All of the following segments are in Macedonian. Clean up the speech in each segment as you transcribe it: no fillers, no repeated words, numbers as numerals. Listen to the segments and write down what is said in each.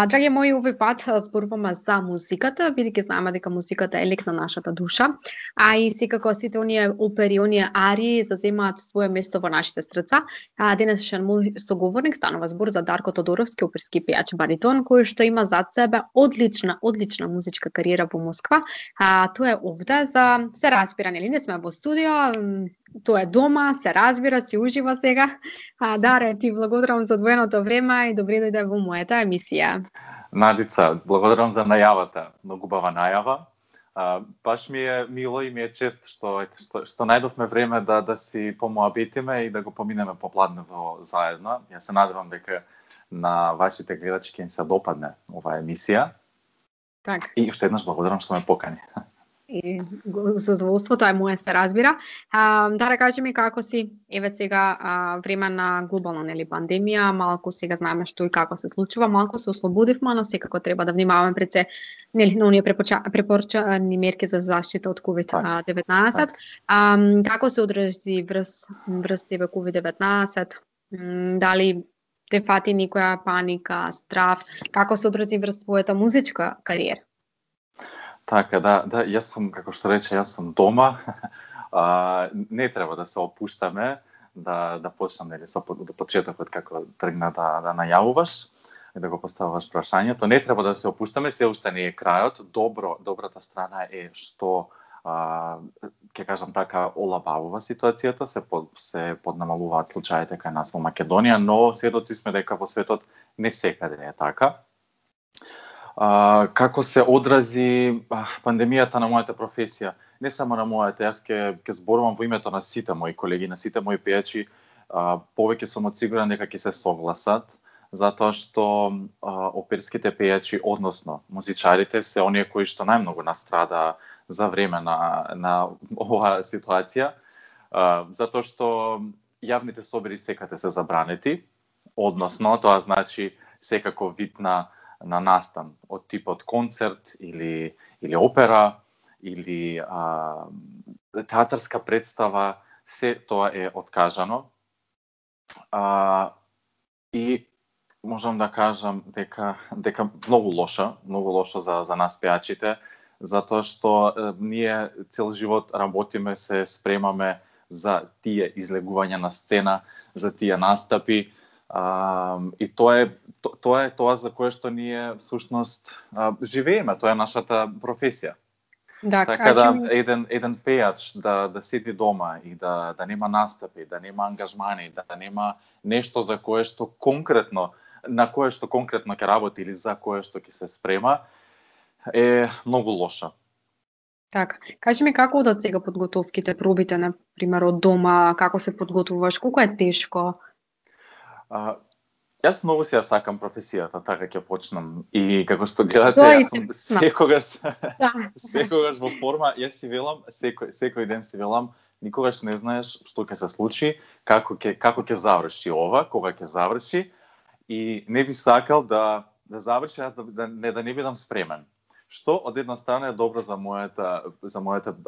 Драги мои, овој пат зборуваме за музиката, бидејќи знаеме дека музиката е лек на нашата душа, а и секако сите оние опери, оние арии заземаат свое место во нашите срца. Денешен мој соговорник станува збор за Дарко Тодоровски, оперски пејач баритон, кој што има зад себе одлична музичка кариера во Москва. Тоа е овде за се разбира, нели? Не сме во студио, тоа е дома, се разбира, си ужива сега. Даре, ти благодарам за одвоеното време и добре дојде во мојата емисија. Надица, благодарам за најавата. Многу убава најава. Баш ми е мило и ми е чест што најдовме време да си помоабитиме и да го поминеме попладнево заедно. Ја се надевам дека на вашите гледачи ќе им се допадне оваа емисија. Так. И уште еднаш благодарам што ме покани. И задоволство, тоа е моје, се разбира. Да кажи ми како си, еве сега време на глобална нели пандемија, малку сега знаеме што и како се случува, малку се ослободивме, но секако треба да внимаваме пред се нели на оние препорачани мерки за заштита од COVID-19. Како се одрази врз тебе COVID-19? Дали те фати никоја паника, страв? Како се одрази врз твојата музичка кариера? Така, да, јас сум, како што рече, јас сум дома. Не треба да се опуштаме, да почнам нели со почетокот како тргна да најавуваш и да го поставуваш прашањето. Не треба да се опуштаме, се уште не е крајот. Добрата страна е што ќе кажам така, олабавува ситуацијата, се поднамалуваат случаите кај нас во Македонија, но сведоци сме дека во светот не секаде е така. Како се одрази пандемијата на мојата професија? Не само на мојата, јас ќе зборувам во името на сите мои колеги, на сите мои пејачи. Повеќе сум сигурен дека ќе се согласат, затоа што оперските пејачи, односно музичарите, се оние кои што најмногу настрада за време на оваа ситуација, затоа што јавните собори секаде се забранети, односно тоа значи секако вид на настан од типот концерт или опера или театарска представа, се тоа е откажано. И можам да кажам дека многу лошо за нас пејачите, затоа што ние цел живот работиме, се спремаме за тие излегувања на сцена, за тие настапи. И тоа е тоа за кое што ние всушност живееме, тоа е нашата професија. Да, така еден пејач да седи дома и да нема настапи, да нема ангажмани, да нема нешто за кое што конкретно ќе работи или за кое што ќе се спрема, е многу лошо. Така, кажи ми како одат сега подготовките, пробите на пример од дома, како се подготвуваш, колку е тешко? Јас многу си ја сакам професијата, така ќе почнам. И како што гледате, јас сум секогаш во форма. Јас си велам, секој ден си велам, никогаш не знаеш што ќе се случи, како ќе заврши ова, кога ќе заврши, и не би сакал да заврши, јас да не бидам спремен. Што од една страна е добро за мојата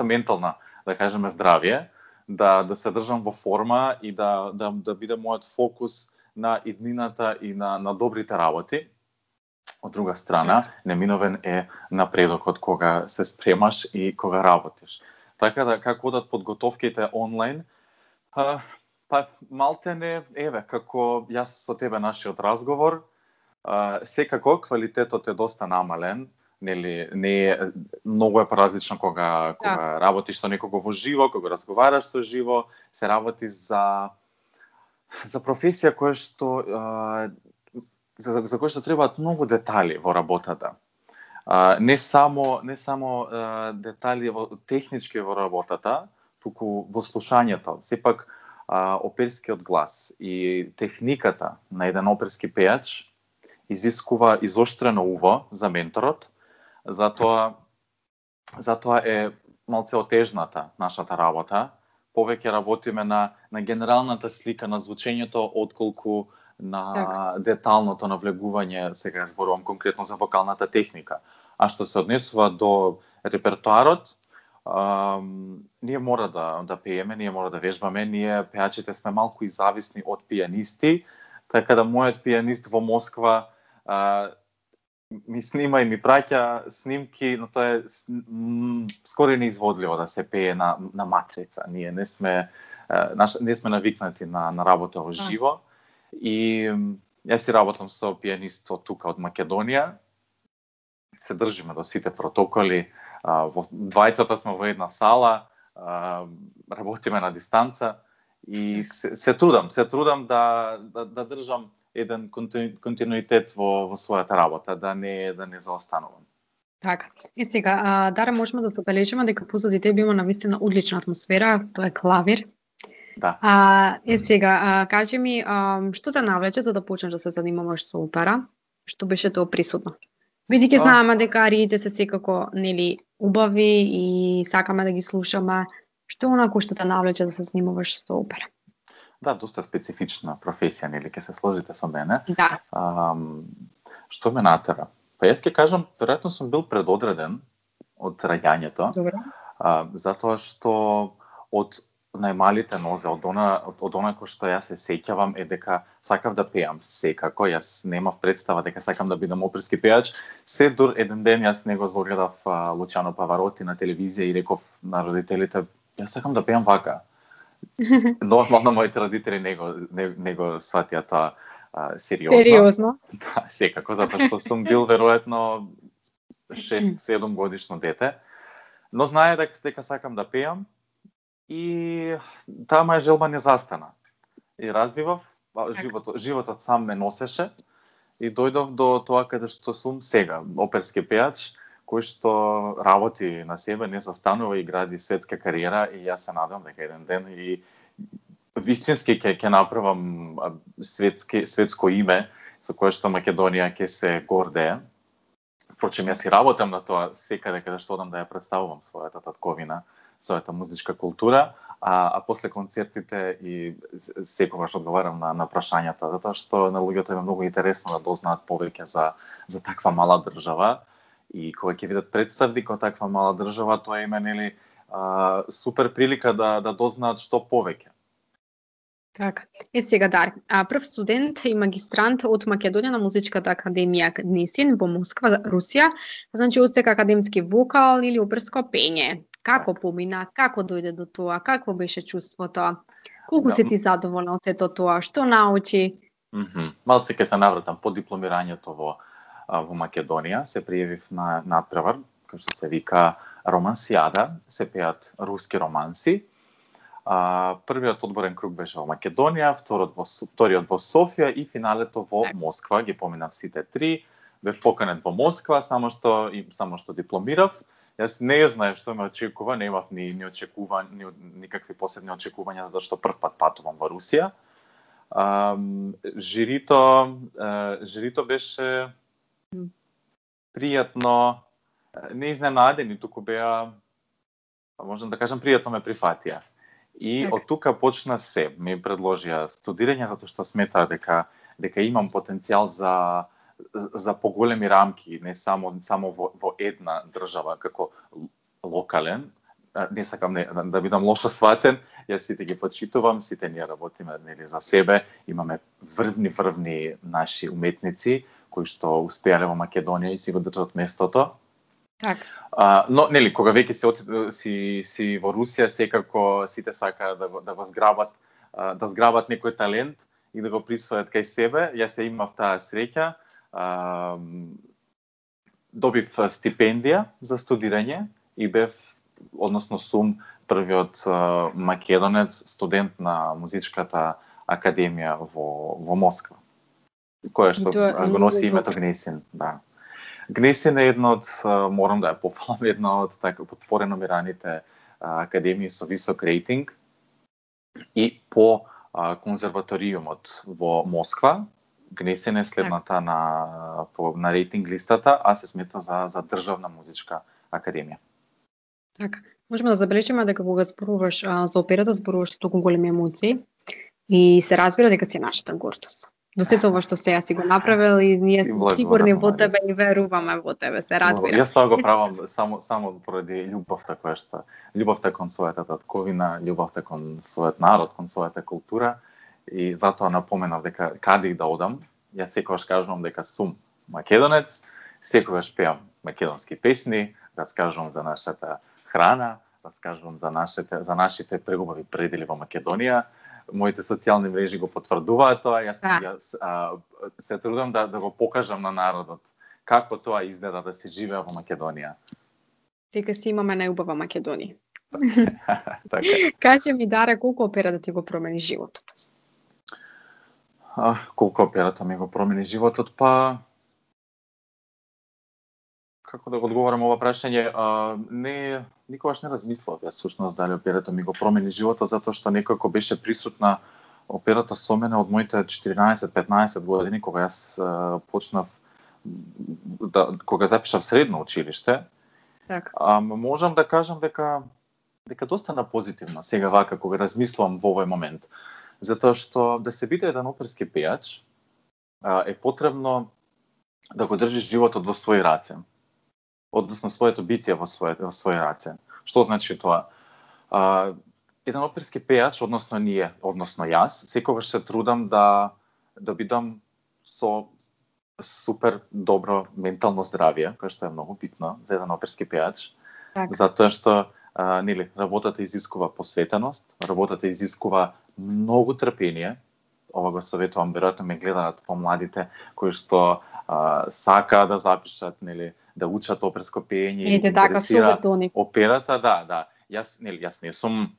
ментална, да кажеме, здравје, да се држам во форма и да биде мојот фокус на иднината и на добрите работи. Од друга страна, неминовен е напредокот кога се спремаш и кога работиш. Така да, како одат подготовките онлайн, малтене, еве, како јас со тебе нашиот разговор, секако квалитетот е доста намален, нели, многу е поразлично кога работиш со некого во живо, кога разговараш со живо, се работи за професија која што за која што требаат многу детали во работата. Не само детали технички во работата, туку во слушањето. Сепак оперскиот глас и техниката на еден оперски пејач изискува изоштрено уво за менторот, затоа е малце отежната нашата работа. Повеќе работиме на генералната слика на звучењето, отколку на деталното навлегување, сега зборувам конкретно за вокалната техника. А што се однесува до репертоарот, ние мора да пееме, ние мора да вежбаме, ние пејачите сме малку и зависни од пијанисти, Така да мојот пианист во Москва ми снима и ми праќа снимки, но тоа е скоро неизводливо да се пее на матрица. Ние не сме навикнати на работа во живо. И јас си работам со пианистот тука од Македонија. Се држиме до сите протоколи. Во двајцата сме во една сала, работиме на дистанца и се трудам да држам еден континуитет во својата работа, да не заостанувам. Така. И сега, Даре, можеме да забележиме дека позади тебе има навистина одлична атмосфера, тоа е клавир. Да. И сега, кажи ми, што те навлече за да почнеш да се занимаваш со опера? Што беше тоа присутно? Бидејќи знаеме дека ариите се секако убави и сакаме да ги слушаме, што онако што те навлече да се занимаваш со опера? Да, доста специфична професија, ќе се сложите со мене. Да. Што ме натера? Па јас ќе кажам, веројатно сум бил предодреден од раѓањето. Добре. Затоа што од најмалите нозе, од она кој што јас се сеќавам е дека сакав да пеам секако. Јас немав представа дека сакам да бидам оперски пеач. Се дур еден ден јас него гледав Лучано Павароти на телевизија и реков на родителите, јас сакам да пеам вака. Нормално моите родители не го сватија тоа сериозно. Сериозно? Да, секако, затоа што сум бил веројатно 6-7 годишно дете. Но знае дека сакам да пеам и таа моја желба не застана. И развивав, животот сам ме носеше и дојдов до тоа каде што сум сега, оперски пеач, кој што работи на себе, не застанува и гради светска кариера и јас се надам дека еден ден и вистински ќе направам светско име со кое што Македонија ќе се гордее. Впрочем, јас и работам на тоа секаде каде што одам да ја представувам својата татковина, својата музичка култура, а после концертите и секогаш одговарам на прашањата, затоа што на луѓето е многу интересно да дознаат повеќе за таква мала држава. И кога ќе видат представник од таква мала држава, тоа има супер прилика да дознаат што повеќе. Така. И сега, Дар, прв студент и магистрант од Македонија на Музичката академија Гнесин во Москва, Русија, значи одсека академски вокал или оперско пење. Како помина, како дојде до тоа, какво беше чувството? Колку се ти задоволна од сето тоа, што научи? Малце ќе се навратам по дипломирањето во Македонија, се пријавив на надпревар, кој што се вика Романсијада, се пеат руски романси. Првиот одборен круг беше во Македонија, вториот во Софија и финалето во Москва. Ги поминав сите три. Бев поканет во Москва, само што дипломирав. Јас не знаев што ме очекува, немав ни никакви посебни очекувања, затоа што прв пат патувам во Русија. Жирито беше пријатно, не изненадени, туку беа, можам да кажам, пријатно ме прифатија. И од тука почна се. Ми предложија студирање затоа што сметаа дека имам потенцијал за поголеми рамки, не само во една држава како локален. Не сакам да бидам лошо сватен, јас сите ги почитувам, сите ние работиме за себе, имаме врвни наши уметници кои што успеале во Македонија и си го држат местото. Так. Но кога веќе си во Русија, секако сите сакаат да го зграбат, да зграбат некој талент и да го присвојат кај себе. Јас имав таа среќа. Добив стипендија за студирање и сум првиот македонец студент на Музичката академија во Москва, која што го носи името Гнесин, да. Гнесин е морам да ја пофалам, една од подпореномираните академии со висок рейтинг и по конзерваториумот во Москва. Гнесин е следната на рейтинг листата, а се смета за државна музичка академија. Така. Можеме да забележиме дека кога зборуваш за операта, зборуваш со толку големи емоции и се разбира дека си нашата гордост. До сето ова што сега си го направил и ние сме сигурни во тебе и веруваме во тебе, се разбира. Јас тоа го правам само поради љубовта кон својата татковина, љубовта кон својот народ, кон својата култура и затоа напоменав дека каде да одам, јас секогаш кажувам дека сум македонец, секогаш пеам македонски песни, раскажувам за нашата храна, раскажувам за нашите прегубави предели во Македонија. Моите социјални мрежи го потврдуваат тоа. Јас се трудам да го покажам на народот како тоа изгледа да се живее во Македонија. Дека си имаме најубава Македонија. Така. Кажи ми, Даре, колку операта ти го промени животот? Колку операта ми го промени животот? Па, како да го одговорам ова прашање, никогаш не размислував јас всушност дали операта ми го промени животот, затоа што некако беше присутна операта со мене од моите 14-15 години, кога јас почнав кога запишав средно училиште. Така. Можам да кажам дека доста на позитивно сега вака кога размислувам во овој момент. Затоа што да се биде еден оперски пејач е потребно да го држиш животот во своји раце. Односно своето битие во своји раце. Што значи тоа? Еден оперски пејач, односно јас, секогаш се трудам да бидам со супер добро ментално здравје, кое што е многу битно за еден оперски пејач, затоа што работата изискува посветеност, работата изискува многу трпение. Ова го советувам, веројатно ме гледаат помладите кои што сакаат да запишат, да учат оперско пеење и интересира операта, да. Јас не сум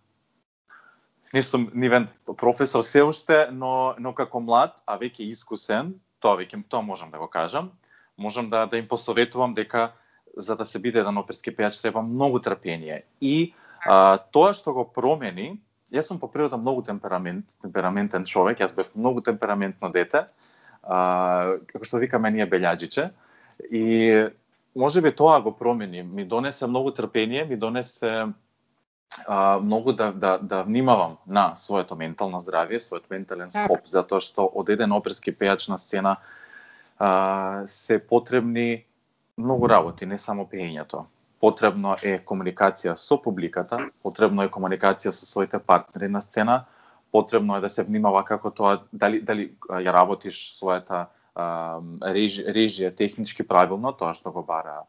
нивен професор се уште, но како млад, а веќе искусен, тоа можам да го кажам, можам да им посоветувам дека за да се биде еден оперски пејач треба многу трпение. И тоа што го промени, јас сум по природа многу темпераментен човек, јас бев многу темпераментно дете, како што викаме ние белјаџиче, и можеби тоа го промени, ми донесе многу трпение, ми донесе многу да внимавам на своето ментално здравје, својот ментален склоп, затоа што од еден оперски пејач на сцена се потребни многу работи, не само пеењето. Потребно е комуникација со публиката, потребно е комуникација со своите партнери на сцена, потребно е да се внимава како тоа, дали ја работиш својата режија технички правилно, тоа што го бара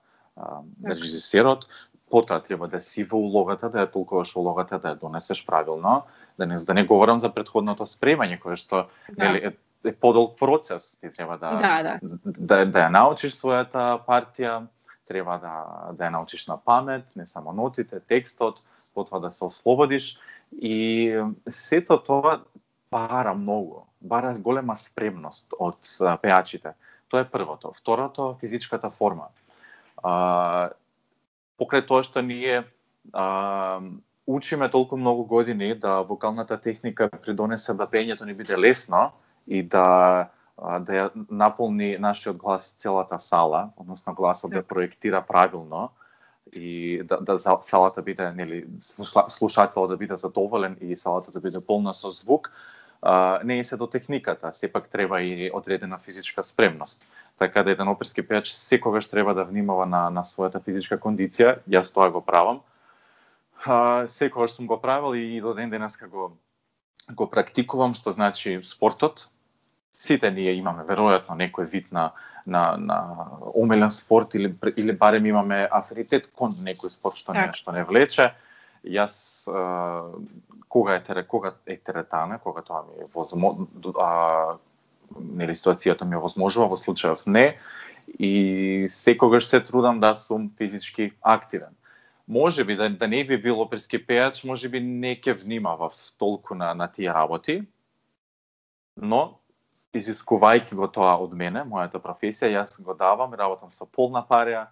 режисерот, потоа треба да си во улогата, да ја толкуваш улогата, да ја донесеш правилно, да не говорам за претходното спремање, кое што е подолг процес, ти треба да ја научиш својата партија, треба да ја научиш на памет, не само нотите, текстот, потоа да се ослободиш, и сето тоа бара многу, бара голема спремност од пејачите. Тоа е првото. Второто, физичката форма. Покрај тоа што ние учиме толку многу години да вокалната техника придонесе да пеењето ни биде лесно и да ја наполни нашиот глас целата сала, односно гласот да проектира правилно и да салата биде, слушателот да биде задоволен и салата да биде полна со звук, не е се до техниката, сепак треба и одредена физичка спремност. Така да еден оперски пејач секогаш треба да внимава на својата физичка кондиција. Јас тоа го правам. Секогаш сум го правил и до ден денеска го практикувам, што значи спортот. Сите ние имаме веројатно некој вид на омилен спорт или барем имаме афинитет кон некој спорт што не влече. Јас кога е теретана, кога тоа ми е ситуацијата ми овозможува, во случајот не, и секогаш се трудам да сум физички активен. Можеби да не би бил оперски пејач, можеби не ќе внимавав толку на тие работи, но изискувајќи го тоа од мене, мојата професија, јас го давам, работам со полна парја,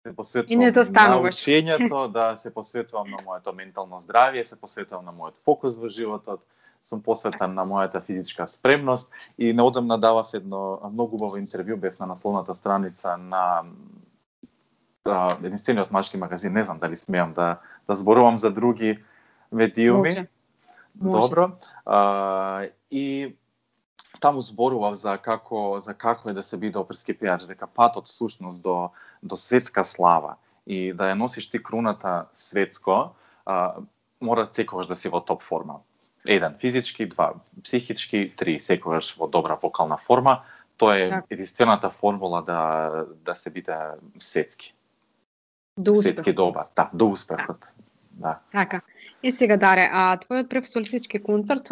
се посветувам на учењето, да се посветувам на моето ментално здравје, се посветувам на мојот фокус во животот, сум посветен на мојата физичка спремност и неодамна давав едно многу убаво интервју, бев на насловната страница на единствениот машки магазин, не знам дали смеам да зборувам за други медиуми. Може. Добро. И таму зборував за како е да се биде оперски пејач, дека патот всушност до светска слава и да ја носиш ти круната светско, мора секогаш да си во топ форма. 1 физички, 2 психички, 3 секогаш во добра вокална форма. Тоа е единствената формула да се биде светски. До успех. Светски добар, до успехот. Да. Така. И сега, Даре, твојот прв солистички концерт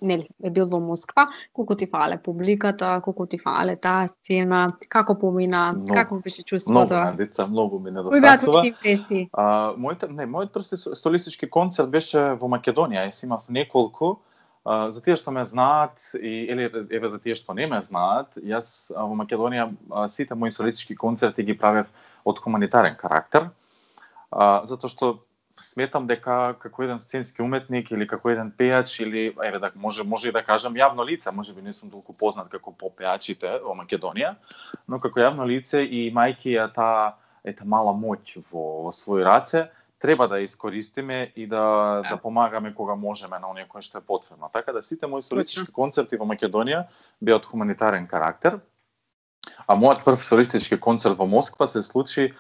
нели е бил во Москва. Колку ти фале публиката, колку ти фале таа сцена, како помина, како беше чувството? Многу, деца, многу ми недостасува. Кои беа твоите импресии? Мојот прв солистички концерт беше во Македонија. Јас имав неколку. За тие што ме знаат или еве за тие што не ме знаат, јас во Македонија сите мои солистички концерти ги правев од хуманитарен карактер, затоа што сметам дека како еден сценски уметник или како еден пејач или еве да може и да кажам јавно лице, можеби не сум толку познат како попејачите во Македонија, но како јавно лице и имајќи ја таа мала моќ во своји раце, треба да искористиме и да помагаме кога можеме на оние кои што е потребно. Така да сите мои солистички концерти во Македонија беа од хуманитарен карактер. А мојот прв солистички концерт во Москва се случи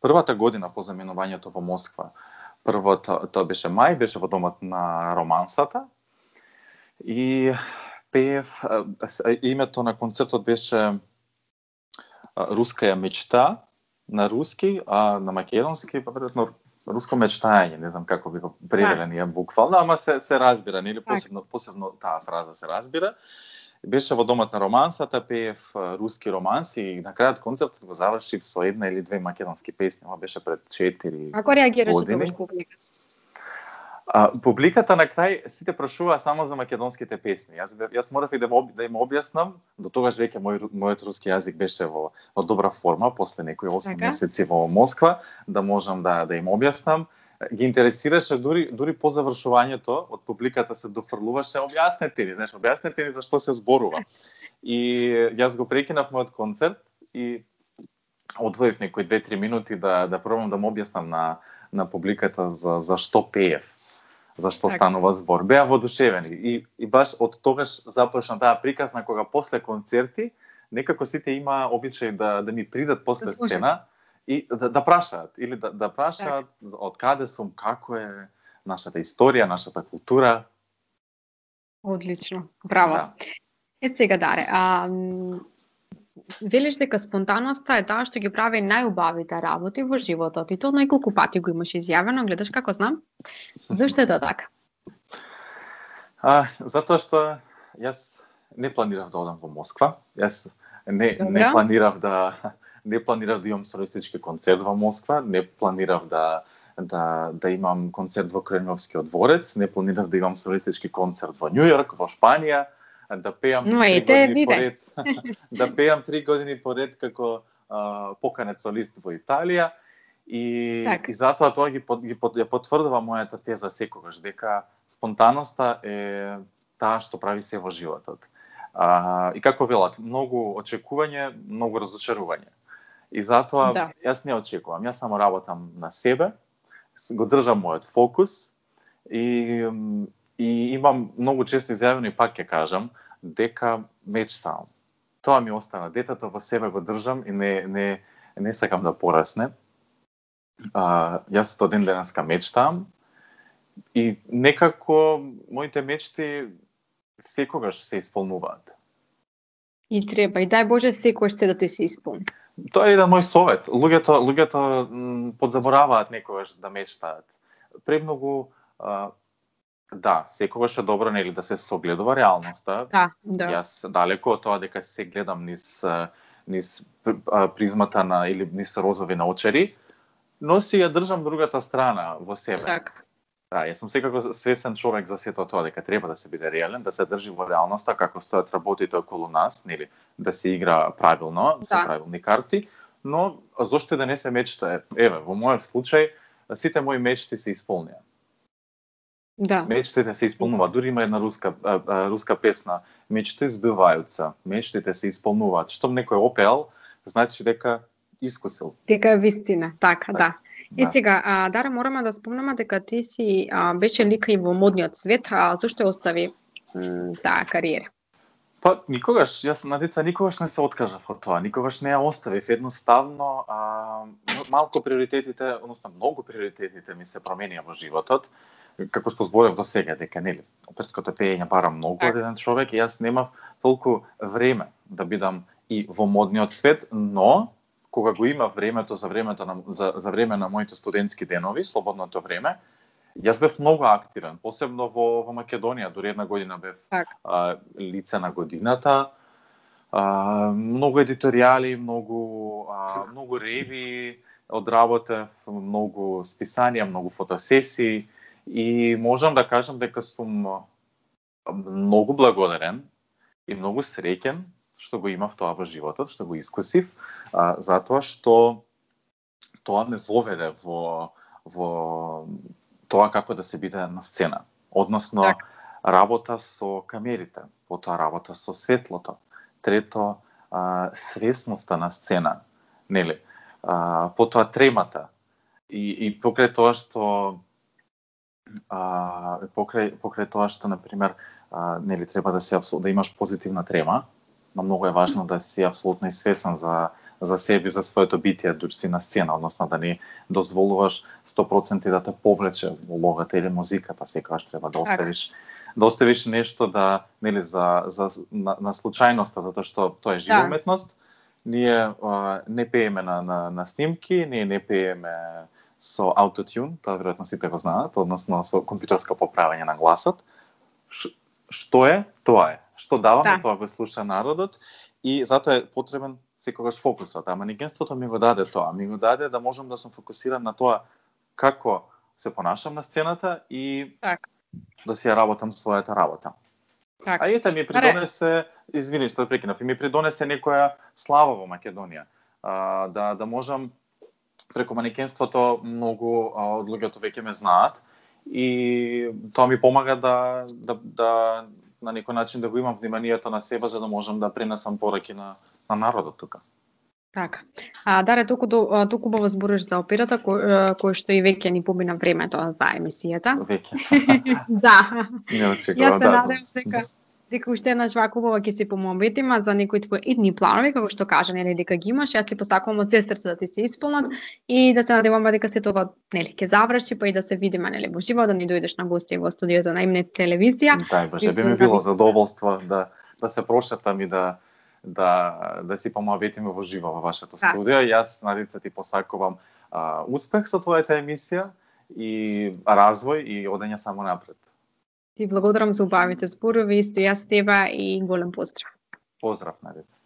првата година по заменувањето во Москва. Првото тоа беше мај, беше во домот на Романсата. И пеев, името на концертот беше Руская мечта на руски, а на македонски веројатно руско мечтање, не знам како би го превеле ние буквално, ама се разбира, нели посебно таа фраза се разбира. Беше во домот на Романсата, пеев руски романси и на крајот концертот го завршив со 1 или 2 македонски песни, ова беше пред 4 години. Како реагираше тогаш публика? Публиката на крај сите прашуваа само за македонските песни. Јас морав и да им објаснам, до тогаш веќе мојот руски јазик беше во добра форма после некои 8 месеци во Москва, да можам да им објаснам. Ги интересираше дури по завршувањето од публиката се дофрлуваше објаснете ни за што се зборува. И јас го прекинав мојот концерт и одвоив некои 2-3 минути да пробам да му објаснам на публиката за што пеев, за што станува збор. Беа воодушевени и баш од тогаш започна таа приказна кога после концерти некако сите има обичај да ми придат после сцена и да прашаат или да прашаат од каде сум, како е нашата историја, нашата култура. Одлично, браво. Сега, Даре, велиш дека спонтаноста е таа што ги прави најубавите работи во животот и тоа неколку пати го имаш изјавено, гледаш како знам. Зошто е тоа така? Затоа што јас не планирав да одам во Москва. Јас не планирав да имам солистички концерт во Москва, не планирав да имам концерт во Кремљовскиот дворец, не планирав да имам солистички концерт во Њујорк, во Шпанија, да пеам 3 години поред. Да пеам 3 години поред како поканет солист во Италија и затоа тоа ги потврдува мојата теза секогаш дека спонтаноста е таа што прави се во животот. И како велат, многу очекување, многу разочарување. И затоа јас не очекувам, јас само работам на себе, го држам мојот фокус и имам многу често изјавено и пак ќе кажам дека мечтам. Тоа ми остана, детето во себе го држам и не сакам да порасне. Јас до ден денеска мечтам и некако моите мечти секогаш се исполнуваат. И треба, и дај Боже секогаш се да ти се исполни. Тоа е еден мој совет. Луѓето подзабораваат некогаш да мечтаат. Премногу секогаш е добро нели да се согледува реалноста. Јас далеко од тоа дека се гледам низ призмата или низ розови наочари, но си ја држам другата страна во себе. Јас сум секако свесен човек за сето тоа дека треба да се биде реален, да се држи во реалноста како стојат работите околу нас, нели, да се игра правилно, со правилни карти, но зошто да не се мечтае? Еве, во мојот случај сите мои мечти се исполнија. Мечтите се исполнуваат. Дури има една руска песна, мечти збивајуцца, мечтите се исполнуваат. Штом некој опеал, значи дека искусил. Дека е вистина, така, да. И сега, Дара, мораме да спомнеме дека ти си беше лика и во модниот свет, зошто остави таа кариера? Па, никогаш, јас на деца никогаш не се откажав од тоа, никогаш не ја оставив, едноставно малку приоритетите, односно многу приоритетите ми се променија во животот, како што зборев до сега, дека нели оперското пеење бара многу од еден човек и јас немав толку време да бидам и во модниот свет, но кога го има времето за време на моите студентски денови, слободното време, јас бев многу активен, посебно во Македонија, дури една година бев лице на годината. Многу едиторијали, многу реви одработев, многу списанија, многу фотосесии и можам да кажам дека сум многу благодарен и многу среќен што го имав тоа во животот, што го искусив, затоа што тоа ме воведе во тоа како да се биде на сцена. Односно, работа со камерите, потоа работа со светлото, трето, свесноста на сцена, нели? Потоа тремата. И покрај тоа што например, нели треба да имаш позитивна трема, но многу е важно да си апсолутно и свесен за себе, за своето битие, дури си на сцена, односно да не дозволуваш 100% да те повлече улогата или музиката, секогаш треба да оставиш нешто да, нели, на случајноста, затоа што тоа е жива уметност. Ние не пееме на снимки, ние не пееме со аутотюн, тоа веројатно сите го знаат, односно со компјутерско поправење на гласот. Што е, тоа е. Што даваме, тоа го слуша народот и затоа е потребен секогаш фокусот. А манекенството ми го даде тоа. Ми го даде да можам да сум фокусиран на тоа како се понашам на сцената и да си ја работам својата работа. А ете ми придонесе, извини што прекинав, ми придонесе некоја слава во Македонија. Да можам преку манекенството многу од луѓето веќе ме знаат и тоа ми помага да на некој начин да го имам вниманието на себе за да можам да пренесам пораки на народот тука. Така. Даре, толку убаво збориш за операта, кој што и веќе ни помина времето за емисијата. Веќе. Да. Јас се надевам дека уште еднаш вака убава ќе се помобетима за некои твои идни планови, како што кажа, нели, дека ги имаш, јас ти посакувам од се срце да ти се исполнат и да се надевам дека се тоа, нели, ќе заврши, па и да се видиме, нели, во живо, да ни дојдеш на гости во студиото на Имнет телевизија. Боже, би ми било задоволство да се прошетам и да си помоветиме во живо во вашето студио. Јас, Надица, ти посакувам успех со твојата емисија и развој и одење само напред. Ти благодарам за убавите зборови, исто јас тебе и голем поздрав. Поздрав, Надица.